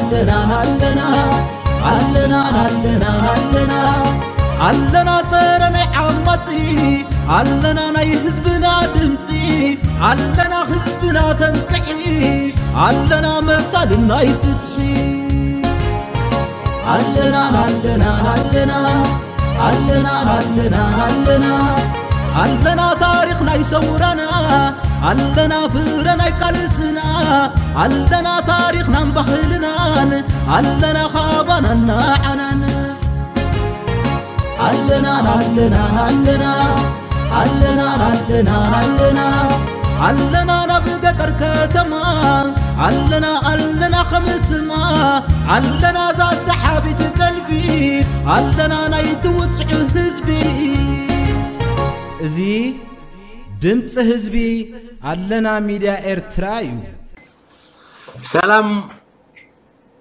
ኣለና ኣለና ኣለና ኣለና ኣለና ኣለና ጸረ ናይ ዓማጺ ኣለና ናይ ህዝብና ድምጺ ኣለና ህዝብና ተንቅሒ ኣለና መሳልን ናይ ፍትሒ ኣለና ኣለና ኣለና ኣለና ኣለና ኣለና ኣለና ታሪኽ ናይ ሰውራና ኣለና ፍረ ናይ ቃልስና ኣለና ታሪኽናን ባህልናን ኣለና ካባናን ንዓናን ኣለና ኣለና ኣለና ኣለና ኣለና ኣለና ኣለና ናብ ገጠር ከተማ ኣለና ኣለና ከምስማ ኣለና እዛ ሰሓቢት ቀልቢ ኣለና ናይ ትውፅዕ ህዝቢ እዚ ድምፂ ህዝቢ ኣለና ሚድያ ኤርትራ እዩ። ሰላም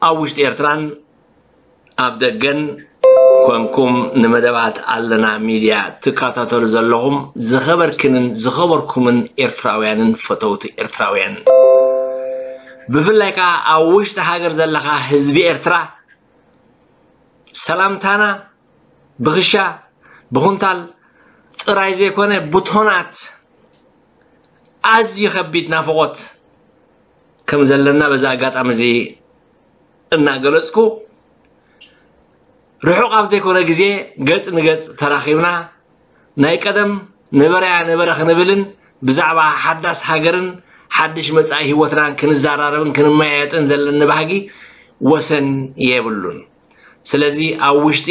ኣብ ውሽጢ ኤርትራን ኣብ ደገን ኮንኩም ንመደባት ኣለና ሚድያ ትከታተሉ ዘለኹም ዝኸበርክንን ዝኸበርኩምን ኤርትራውያንን ፈተውቲ ኤርትራውያንን ብፍላይ ከዓ ኣብ ውሽጢ ሃገር ዘለኻ ህዝቢ ኤርትራ ሰላምታና ብኽሻ ብኹንታል ጥራይ ዘይኮነ ብቶናት ኣዝዩ ከቢድ ናፍቖት ከም ዘለና በዚ ኣጋጣሚ እዚ እናገለፅኩ ርሑቕ ኣብ ዘይኮነ ግዜ ገፅ ንገፅ ተራኺብና ናይ ቀደም ነበረያ ነበረ ክንብልን ብዛዕባ ሓዳስ ሃገርን ሓድሽ መጻኢ ህይወትናን ክንዘራረብን ክንመያየጥን ዘለኒ ባህጊ ወሰን የብሉን። ስለዚ ኣብ ውሽጢ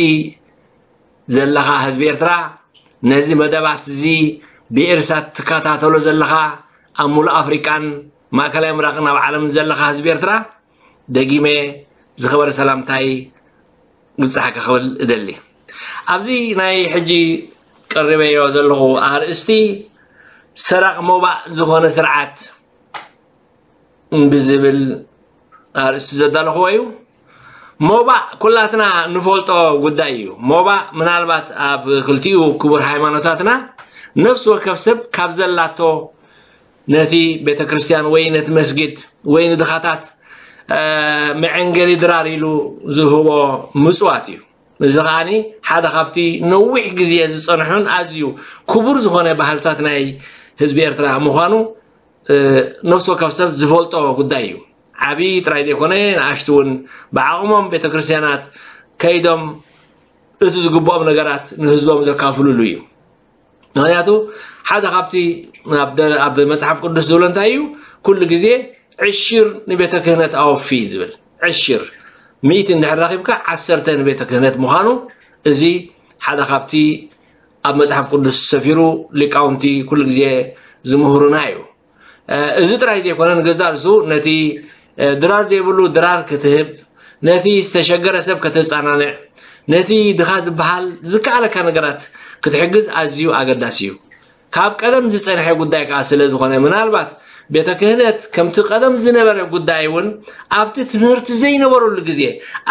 ዘለኻ ህዝቢ ኤርትራ ነዚ መደባት እዚ ብኤርሳት ትከታተሎ ዘለኻ ኣብ ሙሉእ ኣፍሪቃን ማእከላይ ምራቕን ኣብ ዓለምን ዘለኻ ህዝቢ ኤርትራ ደጊመ ዝኸበረ ሰላምታይ ይብጻሕካ ክብል እደሊ። ኣብዚ ናይ ሕጂ ቀሪበዮ ዘለኹ ኣርእስቲ ሰራቕ ሞባእ ዝኾነ ስርዓት ብዝብል ኣርእስቲ ዘዳለኹዎ እዩ። ሞባእ ኩላትና ንፈልጦ ጉዳይ እዩ። ሞባእ ምናልባት ኣብ ክልቲኡ ክቡር ሃይማኖታትና ነፍሲ ወከፍ ሰብ ካብ ዘላቶ ነቲ ቤተ ክርስቲያን ወይ ነቲ መስጊድ ወይ ንድኻታት መዐንገሊ ድራር ኢሉ ዝህቦ ምፅዋት እዩ። እዚ ከዓኒ ሓደ ካብቲ ነዊሕ ግዜ ዝፀንሑን ኣዝዩ ክቡር ዝኾነ ባህልታት ናይ ህዝቢ ኤርትራ ምዃኑ ነፍሲ ወከፍ ሰብ ዝፈልጦ ጉዳይ እዩ። ዓብዪ ጥራይ ዘይኮነ ንኣሽቱ እውን ብዓቕሞም ቤተ ክርስቲያናት ከይዶም እቲ ዝግብኦም ነገራት ንህዝቦም ዘካፍሉሉ እዩ። ምክንያቱ ሓደ ካብቲ ኣብ መፅሓፍ ቅዱስ ዝብሎ እንታይ እዩ? ኩሉ ግዜ ዕሽር ንቤተ ክህነት ኣወፊ ዝብል ዕሽር ሚእቲ እንድሕር ረኺብካ ዓሰርተ ንቤተ ክህነት ምዃኑ እዚ ሓደ ካብቲ ኣብ መፅሓፍ ቅዱስ ሰፊሩ ሊቃውንቲ ኩሉ ግዜ ዝምህሩና እዩ። እዚ ጥራይ ዘይኮነ ንገዛእ ርእሱ ነቲ ድራር ዘይብሉ ድራር ክትህብ፣ ነቲ ዝተሸገረ ሰብ ከተጸናንዕ፣ ነቲ ድኻ ዝበሃል ዝከኣለካ ነገራት ክትሕግዝ ኣዝዩ ኣገዳሲ እዩ። ካብ ቀደም ዝጸንሐ ጉዳይ ከኣ ስለ ዝኾነ ምናልባት ቤተ ክህነት ከምቲ ቀደም ዝነበረ ጉዳይ እውን ኣብቲ ትምህርቲ ዘይነበረሉ ግዜ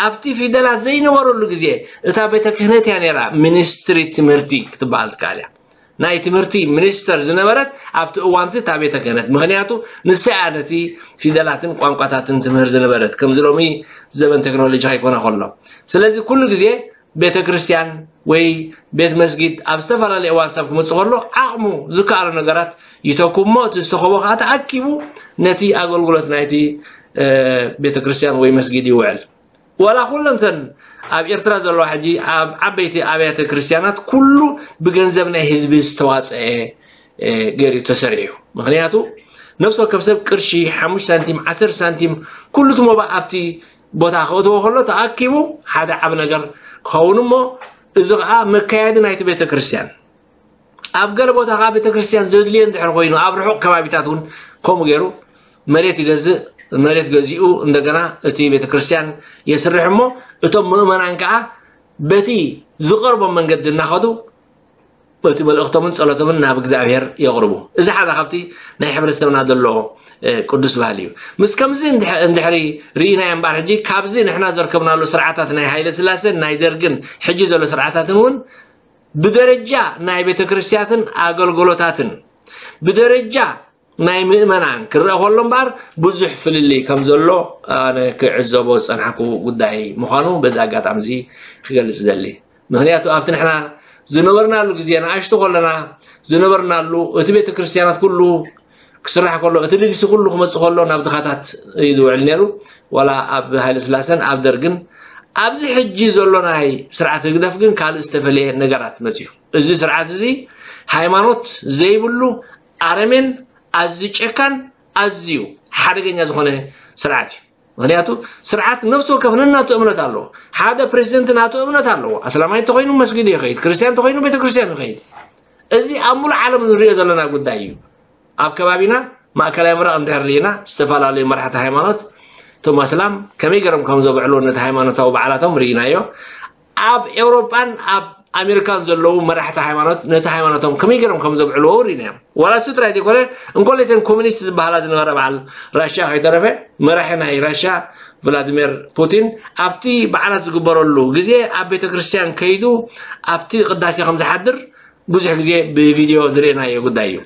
ኣብቲ ፊደላት ዘይነበረሉ ግዜ እታ ቤተ ክህነት እያ ነይራ ሚኒስትሪ ትምህርቲ ክትበሃል ትከኣል እያ። ናይ ትምህርቲ ሚኒስተር ዝነበረት ኣብቲ እዋንቲ እታ ቤተ ክህነት ምክንያቱ ንሳ እያ ነቲ ፊደላትን ቋንቋታትን ትምህር ዝነበረት ከምዚ ሎሚ ዘበን ቴክኖሎጂ ከይኮነ ከሎ ስለዚ ኩሉ ግዜ ቤተ ክርስቲያን ወይ ቤት መስጊድ ኣብ ዝተፈላለየ እዋን ሰብ ክመፅእ ከሎ ዓቕሙ ዝከኣሎ ነገራት ይተኩ እሞ እቲ ዝተኸቦ ከዓ ተኣኪቡ ነቲ ኣገልግሎት ናይቲ ቤተ ክርስቲያን ወይ መስጊድ ይውዕል። ዋላ ኩለን እተን ኣብ ኤርትራ ዘለዋ ሕጂ ኣብ ዓበይቲ ኣብያተ ክርስቲያናት ኩሉ ብገንዘብ ናይ ህዝቢ ዝተዋፀአ ገይሩ ተሰሪሑ። ምክንያቱ ነፍሲ ወከፍ ሰብ ቅርሺ ሓሙሽተ ሳንቲም ዓሰርተ ሳንቲም ኩሉ እቲ ሞባእ ኣብቲ ቦታ ከእትዎ ከሎ ተኣኪቡ ሓደ ዓብ ነገር ክኸውን እሞ እዚ ከዓ መካየዲ ናይቲ ቤተ ክርስቲያን ኣብ ገለ ቦታ ከዓ ቤተክርስትያን ዘድልዮ እንድሕር ኮይኑ ኣብ ርሑቕ ከባቢታት እውን ከምኡ ገይሩ መሬት ይገዝእ መሬት ገዚኡ እንደገና እቲ ቤተክርስትያን የስርሕ እሞ እቶም ምእመናን ከዓ በቲ ዝቐርቦም መንገዲ እናኸዱ እቲ መልእኽቶምን ጸሎቶምን ናብ እግዚኣብሔር የቕርቡ። እዚ ሓደ ካብቲ ናይ ሕብረተሰብና ዘሎ ቅዱስ ባህሊ እዩ። ምስ ከምዚ እንድሕሪ ርኢናዮ እምበኣር ሕጂ ካብዚ ንሕና ዘርከብናሉ ስርዓታት ናይ ሃይለ ስላሰን ናይ ደርግን ሕጂ ዘሎ ስርዓታትን እውን ብደረጃ ናይ ቤተ ክርስቲያትን ኣገልግሎታትን ብደረጃ ናይ ምእመናን ክረአ ከሎ እምበኣር ብዙሕ ፍልልይ ከም ዘሎ ኣነ ክዕዘቦ ዝጸናሕኩ ጉዳይ ምዃኑ በዚ ኣጋጣሚ እዚ ክገልጽ ደሊ። ምኽንያቱ ኣብቲ ንሕና ዝነበርናሉ ግዜ ንኣሽቱ ከለና ዝነበርናሉ እቲ ቤተ ክርስቲያናት ኩሉ ክስራሕ ከሎ እቲ ንግሲ ኩሉ ክመጽእ ከሎ ናብ ድኻታት እዩ ዝውዕል ነይሩ። ዋላ ኣብ ሃይለ ስላሰን ኣብ ደርግን ኣብዚ ሕጂ ዘሎ ናይ ስርዓት ህግደፍ ግን ካልእ ዝተፈለየ ነገራት መጽዩ። እዚ ስርዓት እዚ ሃይማኖት ዘይብሉ ኣረሜን ኣዝዩ ጨካን ኣዝዩ ሓደገኛ ዝኾነ ስርዓት እዩ። ምክንያቱ ስርዓት ነፍሲ ወከፍ ነናቱ እምነት ኣለዎ። ሓደ ፕሬዚደንት ናቱ እምነት ኣለዎ። ኣስላማይ እንተኮይኑ መስጊድ ይኸይድ፣ ክርስቲያን እንተኮይኑ ቤተክርስትያን ይኸይድ። እዚ ኣብ ሙሉእ ዓለም ንሪኦ ዘለና ጉዳይ እዩ። ኣብ ከባቢና ማእከላይ ምብራቕ እንድሕር ርኢና ዝተፈላለዩ መራሕቲ ሃይማኖት እቶም ኣስላም ከመይ ገይሮም ከም ዘብዕሉ ነቲ ሃይማኖታዊ በዓላቶም ርኢናዮ። ኣብ ኤውሮጳን ኣብ ኣሜሪካን ዘለዉ መራሕቲ ሃይማኖት ነቲ ሃይማኖቶም ከመይ ገይሮም ከም ዘብዕልዎ ርኢናዮም። ዋላ እሱ ጥራይ ዘይኮነ እንኮለተን ኮሚኒስት ዝበሃላ ዝነበረ በዓል ራሽያ ከይተረፈ መራሒ ናይ ራሽያ ቭላድሚር ፑቲን ኣብቲ በዓላት ዝግበረሉ ግዜ ኣብ ቤተ ክርስቲያን ከይዱ ኣብቲ ቅዳሴ ከም ዝሓድር ብዙሕ ግዜ ብቪድዮ ዝርእናዮ ጉዳይ እዩ።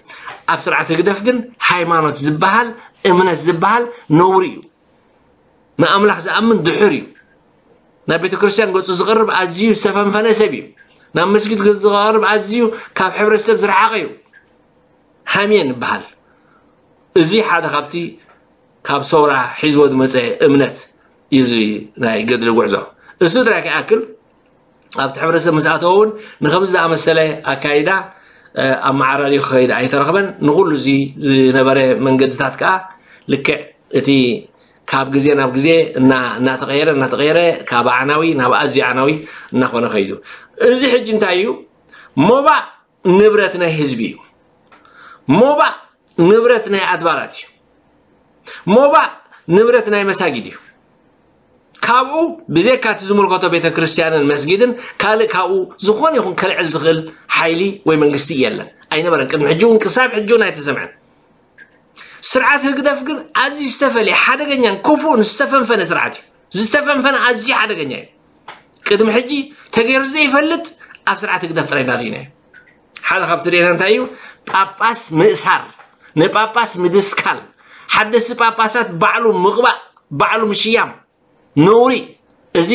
ኣብ ስርዓት ህግደፍ ግን ሃይማኖት ዝበሃል እምነት ዝበሃል ነውሪ እዩ። ንኣምላኽ ዝኣምን ድሑር እዩ። ናብ ቤተ ክርስቲያን ገጹ ዝቐርብ ኣዝዩ ዝተፈንፈነ ሰብ እዩ። ናብ መስጊድ ገጹ ዝቐርብ ኣዝዩ ካብ ሕብረተሰብ ዝረሓቐ እዩ። ሃምየን ይበሃል። እዚ ሓደ ካብቲ ካብ ሰውራ ሒዝዎ ዝመጸ እምነት እዩ። እዚ ናይ ገድሊ ጉዕዞ እሱ ጥራይ ክኣክል ኣብቲ ሕብረተሰብ ምስ ኣተወ እውን ንከምዚ ዝኣመሰለ ኣካይዳ ኣመዓራርዩ ክኸይድ ኣይተረኽበን። ንኹሉ እዚ ዝነበረ መንገድታት ከዓ ልክዕ እቲ ካብ ግዜ ናብ ግዜ እናተቀየረ እናተቀየረ ካብ ኣዕናዊ ናብ ኣዝዩ ኣዕናዊ እናኾነ ከይዱ። እዚ ሕጂ እንታይ እዩ? ሞባእ ንብረት ናይ ህዝቢ እዩ። ሞባእ ንብረት ናይ ኣድባራት እዩ። ሞባእ ንብረት ናይ መሳጊድ እዩ። ካብኡ ብዘይካ እቲ ዝምልከቶ ቤተ ክርስቲያንን መስጊድን ካልእ ካብኡ ዝኾነ ይኹን ከልዕል ዝኽእል ሓይሊ ወይ መንግስቲ የለን፣ ኣይነበረን። ቅድሚ ሕጂ እውን ክሳብ ሕጂ እውን ኣይተሰምዐን። ስርዓት ህግደፍ ግን ኣዝዩ ዝተፈለየ ሓደገኛን ክፉእን ዝተፈንፈነ ስርዓት እዩ። ዝተፈንፈነ ኣዝዩ ሓደገኛ እዩ። ቅድሚ ሕጂ ተገይሩ ዘይፈልጥ ኣብ ስርዓት ህግደፍ ጥራይ ኢና ርኢናዮ። ሓደ ካብቲ ርኢና እንታይ እዩ? ጳጳስ ምእሳር፣ ንጳጳስ ምድስካል፣ ሓደስቲ ጳጳሳት ባዕሉ ምቕባእ፣ ባዕሉ ምሽያም ነውሪ። እዚ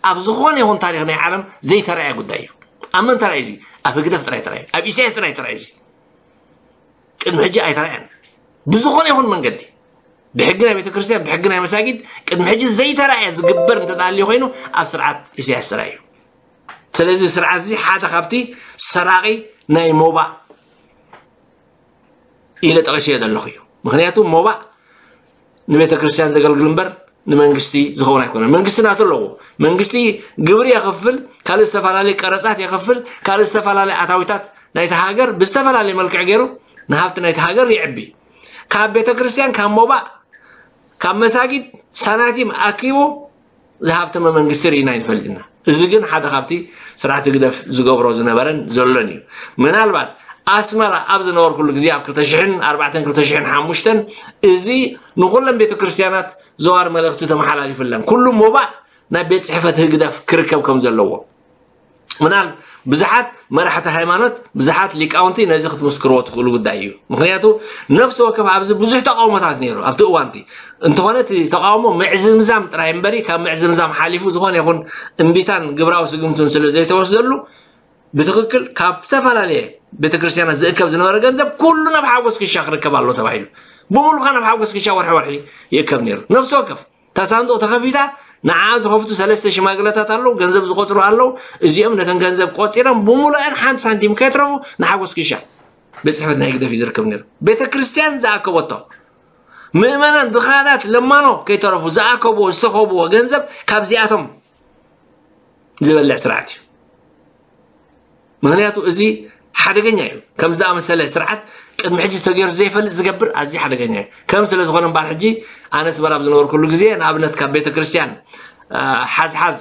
ኣብ ዝኾነ ይኹን ታሪኽ ናይ ዓለም ዘይተረኣየ ጉዳይ እዩ። ኣብ መን ተራእዩ እዚ? ኣብ ህግደፍ ጥራይ ተራእዩ፣ ኣብ ኢሳያስ ጥራይ ተራእዩ እዚ። ቅድሚ ሕጂ ኣይተራእየን። ብዝኾነ ይኹን መንገዲ ብሕጊ ናይ ቤተክርስትያን ብሕጊ ናይ መሳጊድ ቅድሚ ሕጂ ዘይተራእየ ዝግበር እንተዳልዩ ኮይኑ ኣብ ስርዓት ኢሳያስ ጥራይ እዩ። ስለዚ ስርዓት እዚ ሓደ ካብቲ ሰራቂ ናይ ሞባእ ኢለ ጠቂሰዮ ዘለኹ እዩ። ምክንያቱ ሞባእ ንቤተ ክርስቲያን ዘገልግል እምበር ንመንግስቲ ዝኸውን ኣይኮነን። መንግስቲ ናቱ ኣለዎ። መንግስቲ ግብሪ የኽፍል፣ ካልእ ዝተፈላለዩ ቀረጻት የኽፍል፣ ካልእ ዝተፈላለዩ ኣታዊታት ናይቲ ሃገር ብዝተፈላለየ መልክዕ ገይሩ ንሃብቲ ናይቲ ሃገር የዕቢ። ካብ ቤተ ክርስቲያን ካብ ሞባእ ካብ መሳጊድ ሳናቲም ኣኪቡ ዝሃብተመ መንግስቲ ርኢና ኣይንፈልጥና። እዚ ግን ሓደ ካብቲ ስርዓት ህግደፍ ዝገብሮ ዝነበረን ዘሎን እዩ። ምናልባት ኣስመራ ኣብ ዝነበርኩሉ ግዜ ኣብ ክልተ ሽሕን ኣርባዕተን ክልተ ሽሕን ሓሙሽተን እዚ ንኩለን ቤተ ክርስቲያናት ዘዋር መልእኽቲ ተመሓላሊፍለን ኩሉ ሞባእ ናብ ቤት ጽሕፈት ህግደፍ ክርከብ ከም ዘለዎ ምናል ብዙሓት መራሕቲ ሃይማኖት ብዙሓት ሊቃውንቲ ነዚ ክትምስክርዎ ትኽእሉ ጉዳይ እዩ። ምክንያቱ ነፍሲ ወከፍ ኣብዚ ብዙሕ ተቃውሞታት ነይሩ ኣብቲ እዋንቲ። እንተኾነ እቲ ተቃውሞ ምዕዝምዛም ጥራይ እምበሪ ካብ ምዕዝምዛም ሓሊፉ ዝኾነ ይኹን እምቢታን ግብራዊ ስግምቱን ስለ ዘይተወስደሉ ብትኽክል ካብ ዝተፈላለየ ቤተክርስትያናት ዝእከብ ዝነበረ ገንዘብ ኩሉ ናብ ሓጎስ ክሻ ክርከብ ኣሎ ተባሂሉ ብምሉኻ ናብ ሓጎስ ክሻ ወርሒ ወርሒ ይእከብ ነይሩ። ነፍሲ ወከፍ እታ ሳንዱቕ ተኸፊታ ንዓ ዝኸፍቱ ሰለስተ ሽማግለታት ኣለዉ፣ ገንዘብ ዝቆጽሩ ኣለዉ። እዚኦም ነተን ገንዘብ ቆጺሮም ብምሉኣን ሓንቲ ሳንቲም ከየትረፉ ንሓጎስ ክሻ ቤት ጽሕፈት ናይ ህግደፍ እዩ ዝርከብ ነይሩ። ቤተ ክርስቲያን ዝኣከበቶ ምእመናን ድኻታት ለማኖ ከይተረፉ ዝኣከብዎ ዝተኸብዎ ገንዘብ ካብዚኣቶም ዝበልዕ ስርዓት እዩ። ምክንያቱ እዚ ሓደገኛ እዩ። ከም ዝኣመሰለ ስርዓት ቅድሚ ሕጂ ተገይሩ ዘይፈልጥ ዝገብር ኣዝዩ ሓደገኛ እዩ። ከም ስለ ዝኾነ እምበኣር ሕጂ ኣነ ኣስመራ ኣብ ዝነበርኩሉ ግዜ ንኣብነት ካብ ቤተ ክርስቲያን ሓዝሓዝ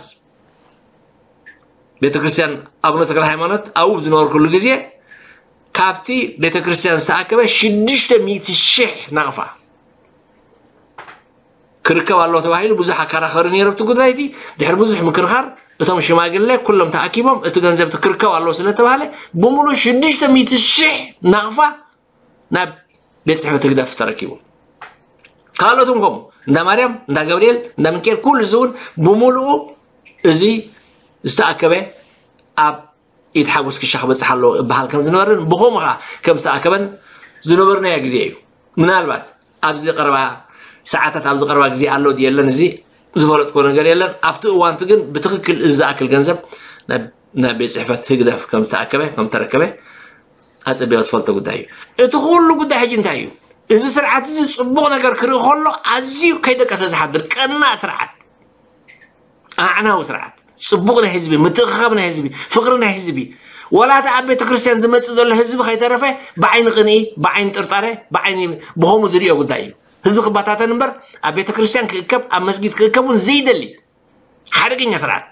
ቤተ ክርስቲያን ኣቡነ ተክለ ሃይማኖት ኣብኡ ዝነበርኩሉ ግዜ ካብቲ ቤተ ክርስቲያን ዝተኣከበ ሽዱሽተ ሚእቲ ሽሕ ናቕፋ ክርከብ ኣለዎ ተባሂሉ ብዙሕ ኣከራኸሪ ነይሩ ኣብቲ ጉዳይ እቲ። ድሕሪ ብዙሕ ምክርኻር እቶም ሽማግለ ኩሎም ተኣኪቦም እቲ ገንዘብ እቲ ክርከብ ኣለዎ ስለ ተባሃለ ብምሉእ ሽዱሽተ ሚእቲ ሽሕ ናቕፋ ናብ ቤት ጽሕፈት ህግደፍ ተረኪቡ። ካልኦት እውን ከምኡ፣ እንዳ ማርያም፣ እንዳ ገብርኤል፣ እንዳ ሚካኤል፣ ኩሉ እዚ እውን ብምሉኡ እዚ ዝተኣከበ ኣብ ኢድ ሓጎስ ክሻ ክበጽሕ ኣለዎ እበሃል ከም ዝነበርን ብኸምኡ ኸዓ ከም ዝተኣከበን ዝነበርናዮ ግዜ እዩ። ምናልባት ኣብዚ ቀረባ ሰዓታት፣ ኣብዚ ቀረባ ግዜ ኣሎ ድዩ የለን፣ እዚ ዝፈለጥኮ ነገር የለን። ኣብቲ እዋንቲ ግን ብትኽክል እዚ ዝኣክል ገንዘብ ናብ፣ ናብ ቤት ጽሕፈት ህግደፍ ከም ዝተኣከበ፣ ከም ተረከበ ኣጸቢቐ ዝፈልጦ ጉዳይ እዩ። እቲ ኩሉ ጉዳይ ሕጂ እንታይ እዩ? እዚ ስርዓት እዚ ጽቡቕ ነገር ክርኢ ከሎ ኣዝዩ ከይደቀሰ ዝሓድር ቀናእ ስርዓት፣ ኣዕናዊ ስርዓት፣ ጽቡቕ ናይ ህዝቢ፣ ምትእኽኻብ ናይ ህዝቢ፣ ፍቕሪ ናይ ህዝቢ፣ ዋላ እቲ ኣብ ቤተ ክርስቲያን ዝመጽእ ዘሎ ህዝቢ ከይተረፈ ብዓይኒ ቅንኢ፣ ብዓይኒ ጥርጣረ፣ ብዓይኒ ብኸምኡ ዝርእዮ ጉዳይ እዩ። ህዝቢ ክበታተን እምበር ኣብ ቤተ ክርስቲያን ክእከብ፣ ኣብ መስጊድ ክእከብ እውን ዘይደሊ ሓደገኛ ስርዓት።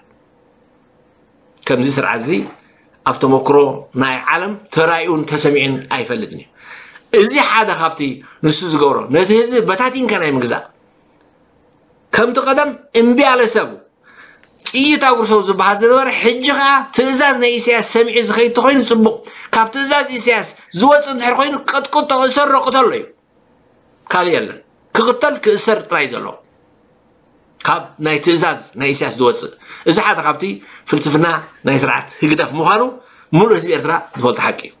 ከምዚ ስርዓት እዚ ኣብ ተመክሮ ናይ ዓለም ተራእዩን ተሰሚዑን ኣይፈልጥን እዩ። እዚ ሓደ ካብቲ ንሱ ዝገብሮ፣ ነቲ ህዝቢ በታቲንካ ናይ ምግዛእ፣ ከምቲ ቀደም እምቢ ኣለ ሰቡ ጥይት ኣጉርሰው ዝበሃል ዝነበረ፣ ሕጂ ኸዓ ትእዛዝ ናይ ኢሳያስ ሰሚዑ ዝኸይድ ተኾይኑ ጽቡቕ፣ ካብ ትእዛዝ ኢሳያስ ዝወጽእ እንድሕር ኮይኑ ቅጥቅጦ፣ እሰሮ፣ ቅተሎ እዩ። ካልእ የለን። ክቕተል ክእሰር ጥራይ ዘሎ ካብ ናይ ትእዛዝ ናይ ኢሳያስ ዝወጽእ። እዚ ሓደ ካብቲ ፍልስፍና ናይ ስርዓት ህግደፍ ምዃኑ ምሉእ ህዝቢ ኤርትራ ዝፈልጦ ሓቂ እዩ።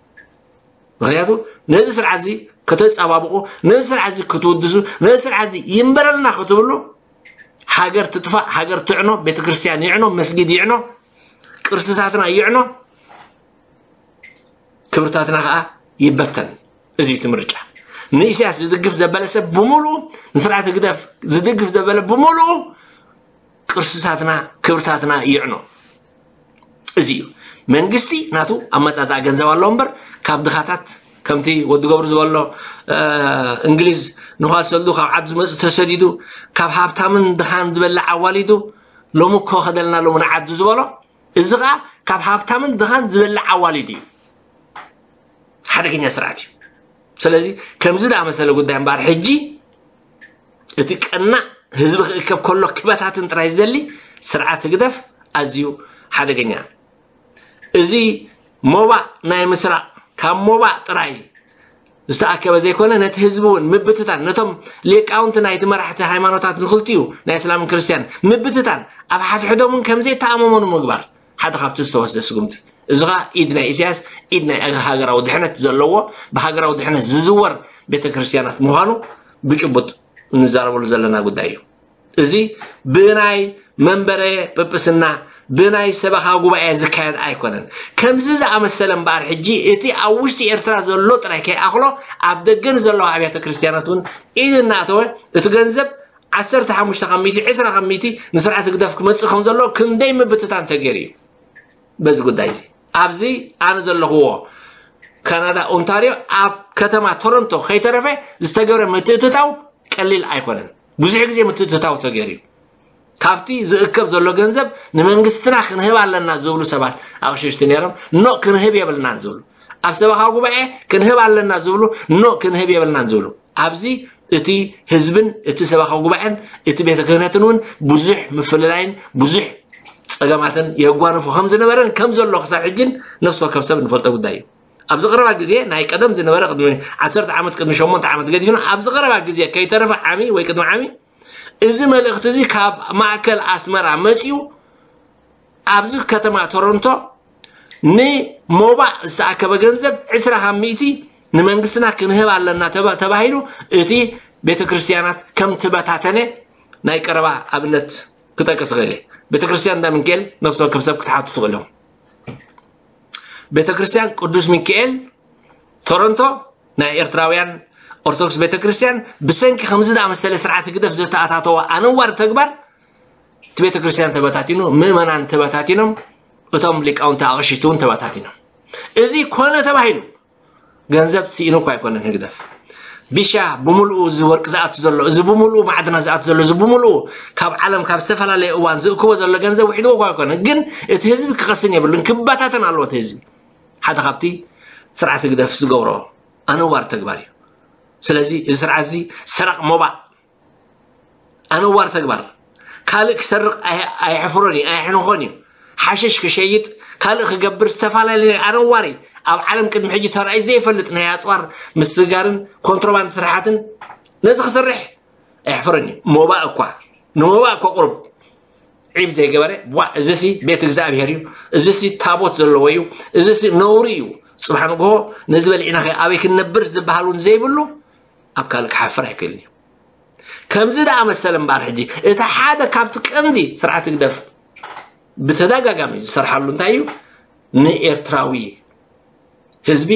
ምኽንያቱ ነዚ ስርዓት እዚ ከተጸባብቑ፣ ነዚ ስርዓት እዚ ክትውድሱ፣ ነዚ ስርዓት እዚ ይንበረልና ክትብሉ፣ ሃገር ትጥፋእ፣ ሃገር ትዕኖ፣ ቤተክርስትያን ይዕኖ፣ መስጊድ ይዕኖ፣ ቅርስታትና ይዕኖ፣ ክብርታትና ኸዓ ይበተን። እዚ እዩ እቲ ምርጫ። ንኢሳያስ ዝድግፍ ዘበለ ሰብ ብምሉኡ፣ ንስርዓት ህግደፍ ዝድግፍ ዘበለ ብምሉኡ ቅርስታትና፣ ክብርታትና ይዕኖ። እዚ እዩ። መንግስቲ ናቱ ኣመጻጽኣ ገንዘብ ኣለዎ እምበር፣ ካብ ድኻታት፣ ከምቲ ወዲ ገብሩ ዝበሎ፣ እ፣ እንግሊዝ ንኳሰሉ ካብ ዓዱ ዝመጽእ ተሰዲዱ፣ ካብ ሃብታምን ድኻን ዝበልዕ ኣዋሊዱ፣ ሎሚ እኮ ከደልና ሎሚ ንዓዱ ዝበሎ፣ እዚ ኸዓ ካብ ሃብታምን ድኻን ዝበልዕ ኣዋሊዱ እዩ። ሓደገኛ ስርዓት እዩ። ስለዚ ከምዚ ዝኣመሰለ ጉዳይ እምበኣር ሕጂ እቲ ቀናእ ህዝቢ ክእከብ ከሎ ክበታትን ጥራይ ዝደሊ ስርዓት ህግደፍ ኣዝዩ ሓደገኛ። እዚ ሞባእ ናይ ምስራቕ ካብ ሞባእ ጥራይ ዝተኣከበ ዘይኮነ፣ ነቲ ህዝቢ እውን ምብትታን፣ ነቶም ሊቃውንቲ ናይቲ መራሕቲ ሃይማኖታት ንክልቲኡ ናይ እስላምን ክርስትያን ምብትታን፣ ኣብ ሓድሕዶም እውን ከምዘይተኣማመኑ ምግባር ሓደ ካብቲ ዝተወስደ ስጉምቲ። እዚ ኸዓ ኢድ ናይ ኢሳያስ፣ ኢድ ናይ ሃገራዊ ድሕነት ዘለዎ፣ ብሃገራዊ ድሕነት ዝዝወር ቤተክርስትያናት ምዃኑ ብጭቡጥ እንዛረበሉ ዘለና ጉዳይ እዩ። እዚ ብናይ መንበረ ጵጵስና፣ ብናይ ሰበኻ ጉባኤ ዝካየድ ኣይኮነን። ከምዚ ዝኣመሰለ እምበኣር ሕጂ እቲ ኣብ ውሽጢ ኤርትራ ዘሎ ጥራይ ከይኣኽሎ፣ ኣብ ደገ ንዘለዋ ኣብያተ ክርስትያናት እውን ኢድ እናኣተወ፣ እቲ ገንዘብ ዓሰርተ ሓሙሽተ ካብ ሚእቲ፣ ዕስራ ካብ ሚእቲ ንስርዓት ህግደፍ ክመጽእ ከም ዘሎ ክንደይ ምብትታን ተገይሩ እዩ። በዚ ጉዳይ እዚ ኣብዚ ኣነ ዘለኽዎ ካናዳ ኦንታርዮ ኣብ ከተማ ቶሮንቶ ከይተረፈ ዝተገብረ ምትእትታው ቀሊል ኣይኮነን። ብዙሕ ግዜ ምትእትታው ተገይሩ እዩ። ካብቲ ዝእከብ ዘሎ ገንዘብ ንመንግስትና ክንህብ ኣለና ዝብሉ ሰባት ኣቕሽሽቲ ነይሮም። ኖ፣ ክንህብ የብልናን ዝብሉ፣ ኣብ ሰበኻ ጉባኤ ክንህብ ኣለና ዝብሉ፣ ኖ፣ ክንህብ የብልናን ዝብሉ። ኣብዚ እቲ ህዝብን እቲ ሰበኻ ጉባኤን እቲ ቤተ ክህነትን እውን ብዙሕ ምፍልላይን ብዙሕ ጸገማትን የጓንፎ ከም ዝነበረን ከም ዘሎ ክሳብ ሕጅን ነፍሲ ወከፍ ሰብ ንፈልጦ ጉዳይ እዩ። ኣብዚ ቀረባ ግዜ፣ ናይ ቀደም ዝነበረ ቅድሚ ዓሰርተ ዓመት፣ ቅድሚ ሸሞንተ ዓመት ገዲፍና፣ ኣብዚ ቀረባ ግዜ ከይተረፈ ዓሚ ወይ ቅድሚ ዓሚ፣ እዚ መልእኽቲ እዚ ካብ ማእከል ኣስመራ መጺኡ ኣብዚ ከተማ ቶሮንቶ ንሞባእ ዝተኣከበ ገንዘብ ዕስራ ካብ ሚእቲ ንመንግስትና ክንህብ ኣለና ተባ-፣ ተባሂሉ እቲ ቤተ ክርስትያናት ከም ትበታተነ ናይ ቀረባ ኣብነት ክጠቅስ እኽእል እየ። ቤተ ክርስትያን እንዳ ሚካኤል ነፍሲ ወከፍ ሰብ ክትሓቱ ትኽእል ኢኹም። ቤተ ክርስትያን ቅዱስ ሚካኤል ቶሮንቶ ናይ ኤርትራውያን ኦርቶዶክስ ቤተ ክርስትያን ብሰንኪ ከምዚ ዝኣመሰለ ስርዓት ህግደፍ ዘተኣታተወ ኣነዋሪ ተግባር እቲ ቤተ ክርስትያን ተበታቲኑ፣ ምእመናን ተበታቲኖም፣ እቶም ሊቃውንቲ ኣቕሽሽቲ እውን ተበታቲኖም። እዚ ኮነ ተባሂሉ ገንዘብ ስኢኑ እኳ ኣይኮነን ህግደፍ። ቢሻ ብምልኡ እዚ ወርቂ ዝኣቱ ዘሎ፣ እዚ ብምልኡ ማዕድናት ዝኣቱ ዘሎ፣ እዚ ብምልኡ ካብ ዓለም ካብ ዝተፈላለየ እዋን ዝእክቦ ዘሎ ገንዘብ ውሒድዎ እኳ ኣይኮነን። ግን እቲ ህዝቢ ክቐስን የብሉን፣ ክበታተን ኣለዎ እቲ ህዝቢ። ሓደ ካብቲ ስርዓት ህግደፍ ዝገብሮ ኣነዋሪ ተግባር እዩ። ስለዚ እዚ ስርዓት እዚ ሰራቕ ሞባእ ኣነዋሪ ተግባር። ካልእ ክሰርቕ ኣይ-፣ ኣየሕፍሮን እዩ፣ ኣየሕንኾን እዩ። ሓሽሽ ክሸይጥ፣ ካልእ ክገብር፣ ዝተፈላለዩ ኣነዋሪ ኣብ ዓለም ቅድሚ ሕጂ ተራእዩ ዘይፈልጥ ናይ ኣፅዋር ምስግጋርን ኮንትሮባንድ ስራሓትን ነዚ ክሰርሕ ኣየሕፍርን እዩ። ሞባእ እኳ ንሞባእ እኳ ቁሩብ ዒብ ዘይገበረ፣ ዋ፣ እዚሲ ቤት እግዚኣብሔር እዩ፣ እዚሲ ታቦት ዘለዎ እዩ፣ እዚሲ ነውሪ እዩ፣ ጽባሕ ንግሆ ነዚ በሊዕና ከ ኣበይ ክንነብር ዝበሃል እውን ዘይብሉ ኣብ ካልእ ክሓፍር ኣይክእልን እዩ። ከምዚ ደኣ መሰለ እምበኣር ሕጂ እቲ ሓደ ካብቲ ቀንዲ ስርዓት ህግደፍ ብተደጋጋሚ ዝሰርሓሉ እንታይ እዩ? ንኤርትራዊ ህዝቢ፣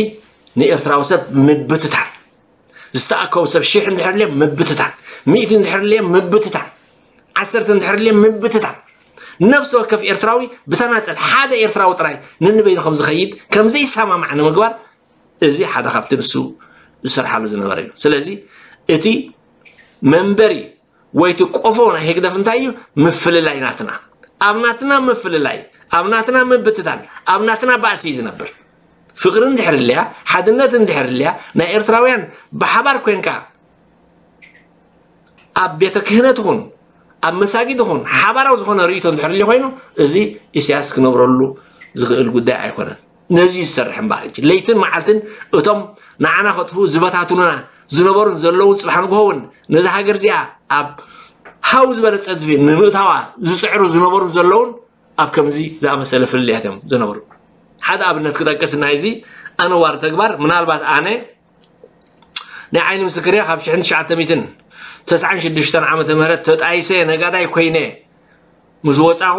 ንኤርትራዊ ሰብ ምብትታን፣ ዝተኣከቡ ሰብ ሽሕ እንድሕር ልዮም ምብትታን፣ ሚእቲ እንድሕር ልዮም ምብትታን፣ ዓሰርተ እንድሕር ልዮም ምብትታን፣ ነፍሲ ወከፍ ኤርትራዊ ብተናጸል ሓደ ኤርትራዊ ጥራይ ንንበይኑ ከም ዝኸይድ ከም ዘይሰማማዕ ንምግባር እዚ ሓደ ካብቲ ንሱ ዝሰርሓሉ ዝነበረ እዩ። ስለዚ እቲ መንበሪ ወይ እቲ ቆፎ ናይ ህግደፍ እንታይ እዩ? ምፍልላይ ናትና። ኣብ ናትና ምፍልላይ፣ ኣብ ናትና ምብትታን፣ ኣብ ናትና ባእሲ እዩ ዝነብር። ፍቕሪ እንድሕር ልያ፣ ሓድነት እንድሕር ልያ፣ ናይ ኤርትራውያን ብሓባር ኮንካ ኣብ ቤተ ክህነት ይኹን ኣብ መሳጊድ ይኹን ሓባራዊ ዝኾነ ርእይቶ እንድሕር ልዩ ኮይኑ፣ እዚ ኢሳያስ ክነብረሉ ዝኽእል ጉዳይ ኣይኮነን። ነዚ ዝሰርሕ እምበኣር ሕጂ ለይትን መዓልትን እቶም ንዓና ከጥፍኡ ዝበታትኑና ዝነበሩን ዘለውን ጽባሕ ንግሆ እውን ነዚ ሃገር እዚኣ ኣብ ሃው ዝበለ ጸድፊ ንምእታዋ ዝጽዕሩ ዝነበሩን ዘለውን ኣብ ከምዚ ዝኣመሰለ ፍልልያት እዮም ዝነበሩ። ሓደ ኣብነት ክጠቅስ ናይ እዚ ኣነዋሪ ተግባር፣ ምናልባት ኣነ ናይ ዓይኒ ምስክር እየ፣ ካብ ሽሕን ትሽዓተ ሚእትን ተስዓን ሽዱሽተን ዓመተ ምህረት ተጣይሰ ነጋዳይ ኮይነ ምስ ወጻኹ፣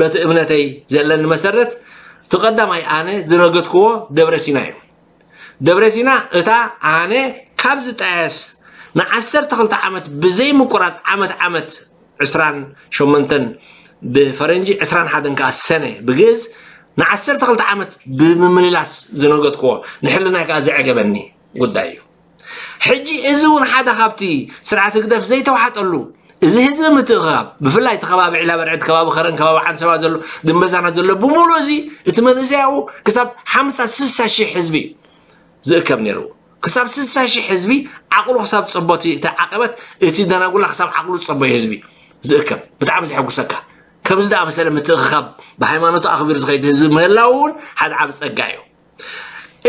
በቲ እምነተይ ዘለኒ መሰረት፣ እቲ ቀዳማይ ኣነ ዝነገድክዎ ደብረ ሲና እዩ። ደብረ ሲና እታ ኣነ ካብ ዝጣየስ ንዓሰርተ ክልተ ዓመት ብዘይ ምቁራጽ ዓመት ዓመት ዕስራን ሸሞንተን ብፈረንጂ ዕስራን ሓደን ከኣ ሰነ ብግእዝ ንዓሰርተ ክልተ ዓመት ብምምልላስ ዝነገድክዎ ንሕልናይ ከኣ ዘዕገበኒ ጉዳይ እዩ። ሕጂ እዚ እውን ሓደ ካብቲ ስርዓት ህግደፍ ዘይተዋሓጠሉ እዚ ህዝቢ ምትእኽኻብ ብፍላይ እቲ ከባቢ ዒላ በርዕድ ከባቢ ኸረን ከባቢ ዓንሰባ ዘሎ ድንበዛና ዘሎ ብምሉእ እዚ እቲ መንእሰያኡ ክሳብ ሓምሳ ስሳ ሽሕ ህዝቢ እዩ ዝእከብ ነይሩ። ክሳብ ስሳ ሽሕ ህዝቢ ዓቕሉ ክሳብ ጸቦቲ እቲ ዓቐበት እቲ ደናጉላ ክሳብ ዓቕሉ ጸቦይ ህዝቢ ዝእከብ ብጣዕሚ ዘሐጉሰካ። ከምዚ ደኣ መሰለ ምትእኽኻብ ብሃይማኖቱ ኣኽቢሩ ዝኸይድ ህዝቢ ምህላው እውን ሓደ ዓብ ጸጋ እዩ።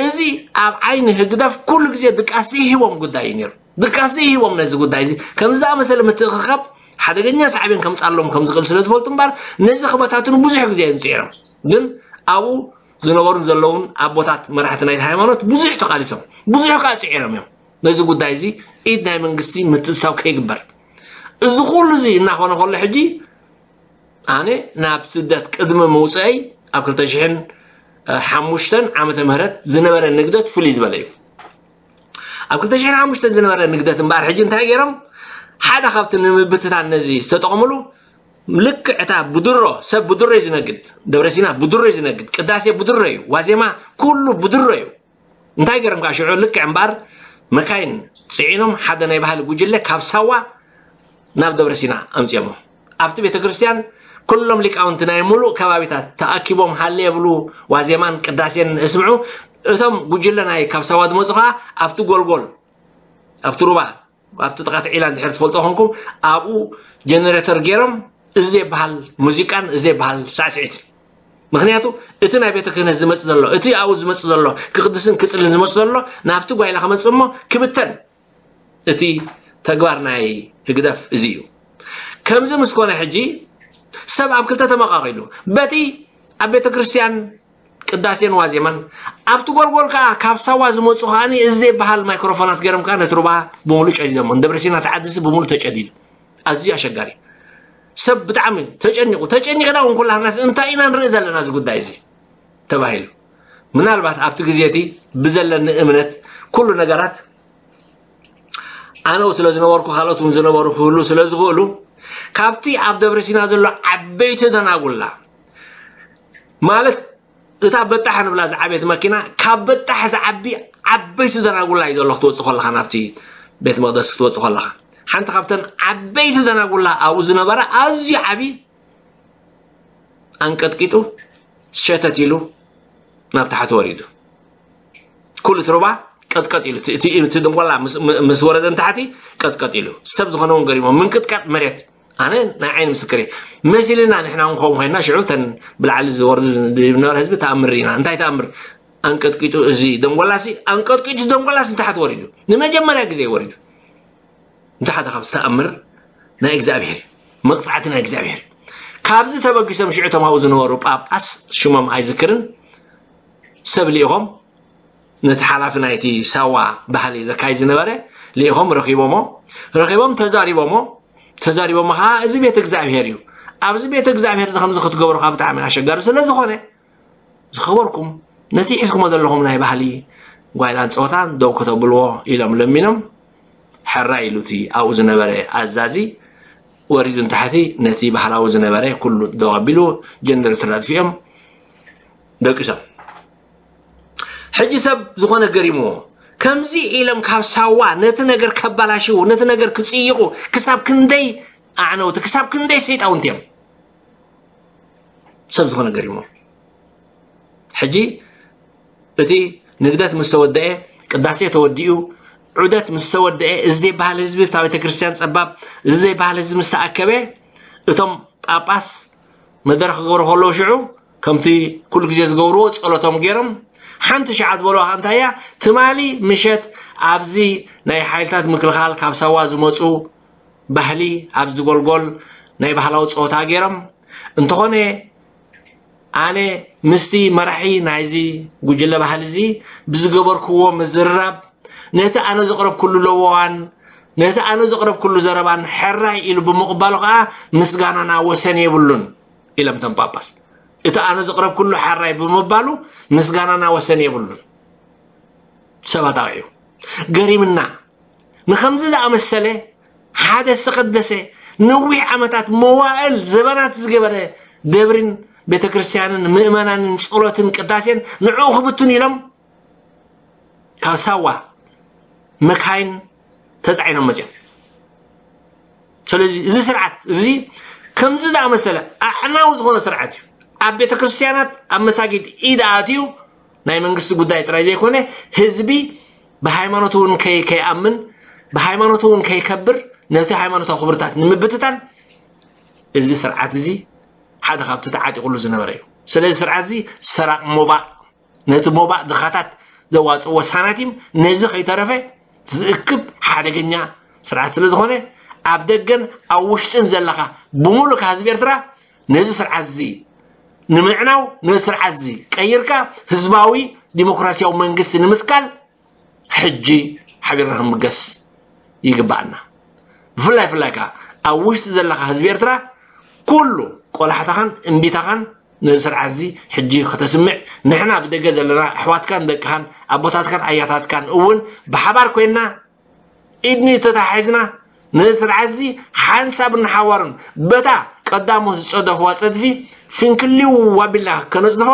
እዚ ኣብ ዓይኒ ህግደፍ ኩሉ ግዜ ድቃስ ዘይህቦም ጉዳይ እዩ ነይሩ። ድቃስ ዘይህቦም ነዚ ጉዳይ እዚ ከምዚ ዝኣመሰለ ምትእኽኻብ ሓደገኛ ሳዕቤን ከምጻሎም ከም ዝኽእል ስለ ዝፈልጡ እምበር ነዚ ክበታትኑ ብዙሕ ግዜ እዮም ጽዒሮም። ግን ኣብኡ ዝነበሩን ዘለውን ኣቦታት መራሕቲ ናይቲ ሃይማኖት ብዙሕ ተቓሊሶም፣ ብዙሕ ከዓ ጽዒሮም እዮም። ነዚ ጉዳይ እዚ ኢድ ናይ መንግስቲ ምትእትታው ከይግበር። እዚ ኩሉ እዚ እናኾነ ከሎ ሕጂ ኣነ ናብ ስደት ቅድሚ ምውፅአይ ኣብ ክልተ ሽሕን ሓሙሽተን ዓመተ ምህረት ዝነበረ ንግደት ፍልይ ዝበለ እዩ። ኣብ ክልተ ሽሕን ሓሙሽተን ዝነበረ ንግደት እምበኣር ሕጂ እንታይ ገይሮም? ሓደ ካብቲ ንምብትታን ነዚ ዝተጠቕምሉ ልክዕ እታ ብድሮ ሰብ ብድሮ እዩ ዝነግድ፣ ደብረሲና ብድሮ እዩ ዝነግድ፣ ቅዳሴ ብድሮ እዩ፣ ዋዜማ ኩሉ ብድሮ እዩ። እንታይ ገይሮም ከዓ ሽዑ ልክዕ እምበኣር መካይን ፅዒኖም ሓደ ናይ ባህሊ ጉጅለ ካብ ሳዋ ናብ ደብረ ሲና ኣምፅኦሞ። ኣብቲ ቤተ ክርስቲያን ኩሎም ሊቃውንቲ ናይ ሙሉእ ከባቢታት ተኣኪቦም ሃለ የብሉ፣ ዋዜማን ቅዳሴን እስምዑ። እቶም ጉጅለ ናይ ካብ ሳዋ ዝመፁ ከዓ ኣብቲ ጎልጎል ኣብቲ ሩባ ኣብቲ ጥቓ እቲ ዒላ እንድሕር ትፈልጦ ኮንኩም ኣብኡ ጀነሬተር ገይሮም እዚ ዘይበሃል ሙዚቃን እዚ ዘይበሃል ሳዕስዒትን። ምክንያቱ እቲ ናይ ቤተ ክህነት ዝመፅ ዘሎ እቲ ኣብኡ ዝመፅ ዘሎ ክቅድስን ክፅልን ዝመፅ ዘሎ ናብቲ ጓይላ ክመፅእ እሞ ክብተን እቲ ተግባር ናይ ህግደፍ እዚ እዩ። ከምዚ ምስ ኮነ ሕጂ ሰብ ኣብ ክልተ ተመቓቒሉ በቲ ኣብ ቤተ ክርስቲያን ቅዳሴን ዋዜማን ኣብቲ ጎልጎል ከዓ ካብ ሳዋ ዝመፁ ከዓኒ እዚ ዘይበሃል ማይክሮፎናት ገይሮም ከዓ ነቲ ሩባ ብምሉእ ጨዲዶሞ። ንደብረሲና ተዓድሲ ብምሉእ ተጨዲዱ። ኣዝዩ ኣሸጋሪ ሰብ ብጣዕሚ ተጨኒቑ። ተጨኒቕና እውን ኩላህናስ እንታይ ኢና ንርኢ ዘለና እዚ ጉዳይ እዚ ተባሂሉ። ምናልባት ኣብቲ ግዜ እቲ ብዘለኒ እምነት ኩሉ ነገራት ኣነው ስለ ዝነበርኩ ካልኦት እውን ዝነበሩ ክህሉ ስለ ዝኽእሉ ካብቲ ኣብ ደብረ ሲና ዘሎ ዓበይቲ ደናጉላ ማለት እታ በጣሕ ንብላ ዝዓበየት መኪና ካብ በጣሕ ዝዓቢ ዓበይቲ ደናጉላ እዩ ዘሎ ክትወፅእ ከለኻ ናብቲ ቤት መቅደስ ክትወፅእ ከለኻ ሓንቲ ካብተን ዓበይቲ ደናጉላ ኣብኡ ዝነበረ ኣዝዩ ዓብዪ ኣንቀጥቂጡ ሸተት ኢሉ ናብ ታሕቲ ወሪዱ። ኩሉ እቲ ሩባ ቀጥቀጥ ኢሉ እቲ ድንጎላ ምስ ወረደ ንታሕቲ ቀጥቀጥ ኢሉ ሰብ ዝኾነ እውን ገሪሞ ምንቅጥቀጥ መሬት ኣነ ናይ ዓይኒ ምስክር እየ። መሲልና ንሕና እውን ከምኡ ኮይና ሽዑ ተን ብላዕሊ ዝወርዱ ዝነበረ ህዝቢ ተኣምር ርኢና። እንታይ ተኣምር? ኣንቀጥቂጡ፣ እዚ ደንጎላሲ ኣንቀጥቂጡ፣ ደንጎላሲ ንታሕቲ ወሪዱ፣ ንመጀመርያ ግዜ ወሪዱ። እንተ ሓደ ካብቲ ተኣምር ናይ እግዚኣብሔር እዩ። መቕጻዕቲ ናይ እግዚኣብሔር እዩ። ካብዚ ተበጊሶም ሽዑ እቶም ኣብኡ ዝነበሩ ጳጳስ፣ ሽሞም ኣይዝክርን፣ ሰብ ልኢኾም፣ ነቲ ሓላፊ ናይቲ ሳዋ ባህሊ ዘካይድ ዝነበረ ልኢኾም ረኺቦሞ። ረኺቦም ተዛሪቦሞ። ተዛሪቦሞ ኸዓ፣ "እዚ ቤት እግዚኣብሔር እዩ። ኣብዚ ቤት እግዚኣብሔር እዚ ከምዚ ክትገብሩ ኸዓ ብጣዕሚ ኣሸጋሪ ስለ ዝኾነ፣ ዝኸበርኩም፣ ነቲ ሒዝኩሞ ዘለኹም ናይ ባህሊ ጓይላን ጸወታን ደው ከተብልዎ" ኢሎም ለሚኖም። ሕራይ ኢሉ እቲ ኣብኡ ዝነበረ ኣዛዚ ወሪዱ ንታሕቲ፣ ነቲ ባህላዊ ዝነበረ ኩሉ ደው ኣቢሉ፣ ጀነሬተር ኣጥፊኦም ደቂሶም። ሕጂ ሰብ ዝኾነ ገሪምዎ፣ ከምዚ ኢሎም ካብ ሳዋ ነቲ ነገር ከባላሽዉ፣ ነቲ ነገር ክጽይቑ ክሳብ ክንደይ ኣዕነውቲ፣ ክሳብ ክንደይ ሰይጣውንቲ እዮም። ሰብ ዝኾነ ገሪሞ። ሕጂ እቲ ንግደት ምስ ተወደአ፣ ቅዳሴ ተወዲኡ፣ ዑደት ምስ ተወደአ፣ እዚ ዘይበሃል ህዝቢ እታ ቤተ ክርስቲያን ጸባብ፣ እዚ ዘይበሃል ህዝቢ ምስ ተኣከበ፣ እቶም ጳጳስ መደረ ክገብሩ ከለዉ ሽዑ፣ ከምቲ ኩሉ ግዜ ዝገብርዎ ጸሎቶም ገይሮም፣ ሓንቲ ሸዓ ዝበልዋ ከኣ እንታይ እያ? ትማሊ ምሸት ኣብዚ ናይ ሓይልታት ምክልኻል ካብ ሳዋ ዝመጹ ባህሊ ኣብዚ ጎልጎል ናይ ባህላዊ ጸወታ ገይሮም። እንተኾነ ኣነ ምስቲ መራሒ ናይዚ ጉጅለ ባህሊ እዚ ብዝገበርክዎ ምዝርራብ፣ ነቲ ኣነ ዘቕረብኩሉ ለበዋን ነቲ ኣነ ዘቕረብኩሉ ዘረባን ሕራይ ኢሉ ብምቕባሉ ከኣ ምስጋናና ወሰን የብሉን ኢሎም እቶም ጳጳስ። እቲ ኣነ ዘቕረብኩሉ ሕራይ ብምባሉ ምስጋናና ወሰን የብሉን። ሰባት ኣውዒዩ። ገሪምና። ንኸምዚ ዝኣመሰለ ሓደ ዝተቐደሰ ነዊሕ ዓመታት መዋእል ዘበናት ዝገበረ ደብርን ቤተ ክርስቲያንን ምእመናንን ጸሎትን ቅዳሴን ንዕኡ ክብትኑ ኢሎም ካብ ሳዋ መካይን ተጻዒኖም መጺኦም። ስለዚ እዚ ስርዓት እዚ ከምዚ ዝኣመሰለ ኣዕናዊ ዝኾነ ስርዓት እዩ። ኣብ ቤተ ክርስቲያናት፣ ኣብ መሳጊድ ኢድ ኣትዩ ናይ መንግስቲ ጉዳይ ጥራይ ዘይኮነ፣ ህዝቢ ብሃይማኖቱ እውን ከይ-፣ ከይኣምን፣ ብሃይማኖቱ እውን ከይከብር፣ ነቲ ሃይማኖታዊ ክብርታት ንምብትታን እዚ ስርዓት እዚ ሓደ ካብቲ ተዓጢቑሉ ዝነበረ እዩ። ስለዚ ስርዓት እዚ ሰራቕ ሞባእ፣ ነቲ ሞባእ ድኻታት ዘዋፅእዎ ሳናቲም ነዚ ከይተረፈ ዝእክብ ሓደገኛ ስርዓት ስለ ዝኾነ፣ ኣብ ደገን ኣብ ውሽጥን ዘለኻ ብምሉእ ህዝቢ ኤርትራ ነዚ ስርዓት እዚ ንምዕናው፣ ነዚ ስርዓት እዚ ቀይርካ ህዝባዊ ዲሞክራሲያዊ መንግስቲ ንምትካል ሕጂ ሓቢርና ክንብገስ ይግባኣና። ብፍላይ፣ ፍላይ ከኣ ኣብ ውሽጢ ዘለኻ ህዝቢ ኤርትራ ኩሉ ቆላሕታኻን እምቢታኻን ነዚ ስርዓት እዚ ሕጂ ከተስምዕ፣ ንሕና ብደገ ዘለና ኣሕዋትካን ደቅኻን ኣቦታትካን ኣያታትካን እውን ብሓባር ኮይንና ኢድኒ ተታሒዝና ነዚ ስርዓት እዚ ሓንሳብ እናሓዋሩን በታ ቀዳሞ ዝጸደፍዋ ጸድፊ ፍንክሊው ኣቢልና ከነጽድፎ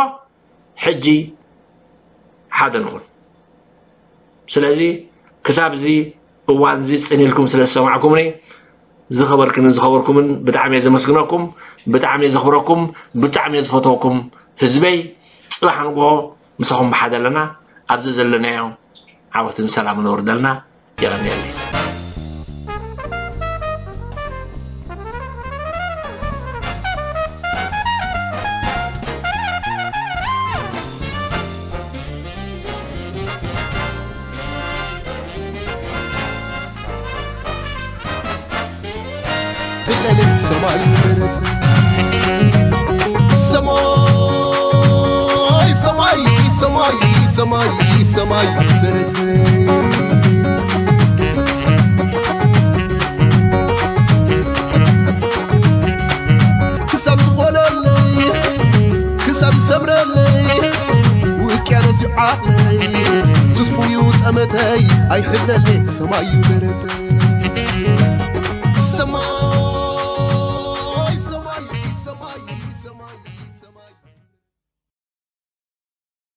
ሕጂ ሓደ ንኹን። ስለዚ ክሳብ እዚ እዋን እዚ ጽን ኢልኩም ስለ ዝሰማዕኩምኒ ዝኸበርክንን ዝኸበርኩምን ብጣዕሚ እየ ዘመስግነኩም፣ ብጣዕሚ እየ ዘኽብረኩም፣ ብጣዕሚ እየ ዝፈትወኩም ህዝበይ። ጽባሕ ንግሆ ምሳኹም ብሓደ ኣለና። ኣብዚ ዘለናዮ ዓወትን ሰላምን ነውርደልና። የቐንየለይ። ብለልን ሰማይ በረት ሰማይ ሰማይ ሰማይ ሰማይ ሰማይ በረት ክሳብ ዝጎለለይ ክሳብ ዝሰምረለይ ውቅያኖስ ይዓለይ ትስፉዩ ጠመተይ ኣይሕለለይ ሰማይ በረት